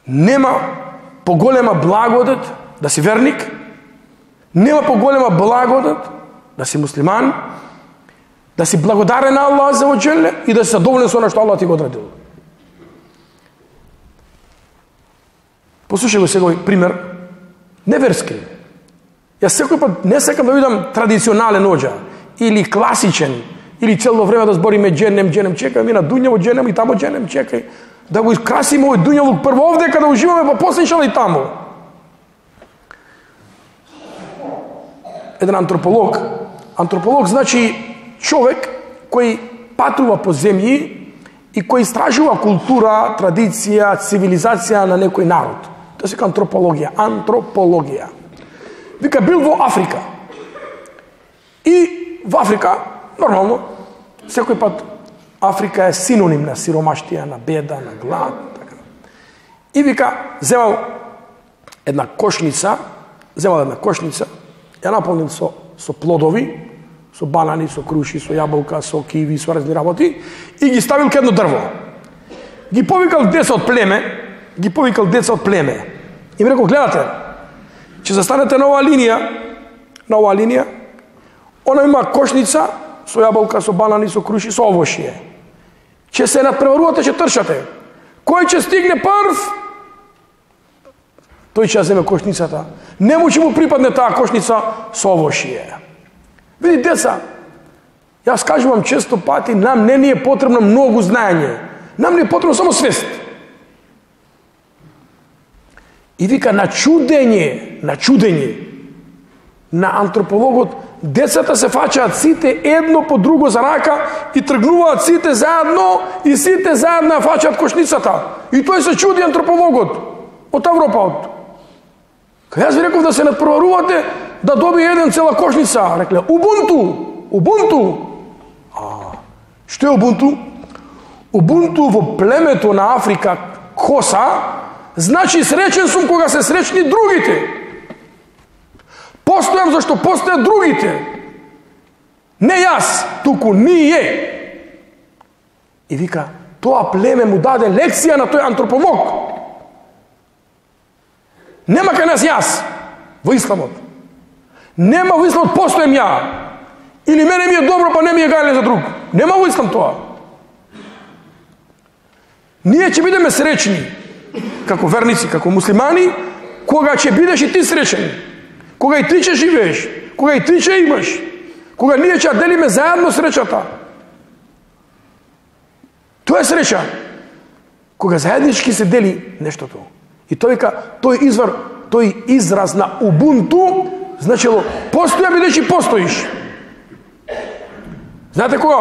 Нема поголема благодат да си верник, нема поголема благодат да си муслиман, да си благодарен на Аллах за оджеле и да си задоволен со она што Аллах ти го одредил. Послушај го сега овој пример, неверски. Јас секој пат не сакам да видам традиционален оџа, или класичен, или цело време да збориме дженем, чекај, ми на дуњаво дженем и тамо дженем, чекај, да го изкрасиме овој дуњавок прво овде, када уживаме, па после иншалла и тамо. Еден антрополог значи човек кој патува по земји и кој истражува култура, традиција, цивилизација на некој народ. Тоа се антропологија. Вика, бил во Африка. И во Африка, нормално, секој пат Африка е синоним на сиромаштија, на беда, на глад. Така. И вика, земал една кошница, ја наполнил со плодови, со банани, со круши, со јаболка, со киви, со разни работи, и ги ставил кај едно дрво. Ги повикал деца од племе. И ми рекол, гледате, че застанете на оваа линија, она има кошница со јаболка, со банани, со круши, со овошје. Че се надпреварувате, че трчате. Кој ќе стигне прв, тој ќе земе кошницата. Нему ќе му припадне таа кошница со овошје. Види, деца, јас кажувам често пати, нам не ни е потребно многу знаење. Нам не е потребно само свест. И вика, на чудење на антропологот, децата се фаќаат сите едно по друго за рака и тргнуваат сите заедно и сите заедно ја фаќаат кошницата. И тој се чуди антропологот од Европа. Кај јас ви реков да се надпреварувате да добие еден цела кошница. Рекле, Убунту. Што е Убунту? Убунту во племето на Африка, Коса, значи среќен сум кога се среќни другите. Постојам зашто постојат другите. Не јас, туку ние. И вика, тоа племе му даде лекција на тој антрополог. Нема кај нас јас, во исламот. Нема во исламот постојам ја. Или мене ми е добро, па не ми е гајле за друг. Нема во ислам тоа. Ние ќе бидеме среќни, како верници, како муслимани, кога ќе бидеш и ти среќен. Кога и ти ќе живееш, кога и ти ќе имаш, кога ние ќе делиме заедно среќата. Тоа е среќа. Кога заеднички се дели нештото. И тој вика, тој израз на Убунту, значило, постоја бидеш и постоиш. Знаете кога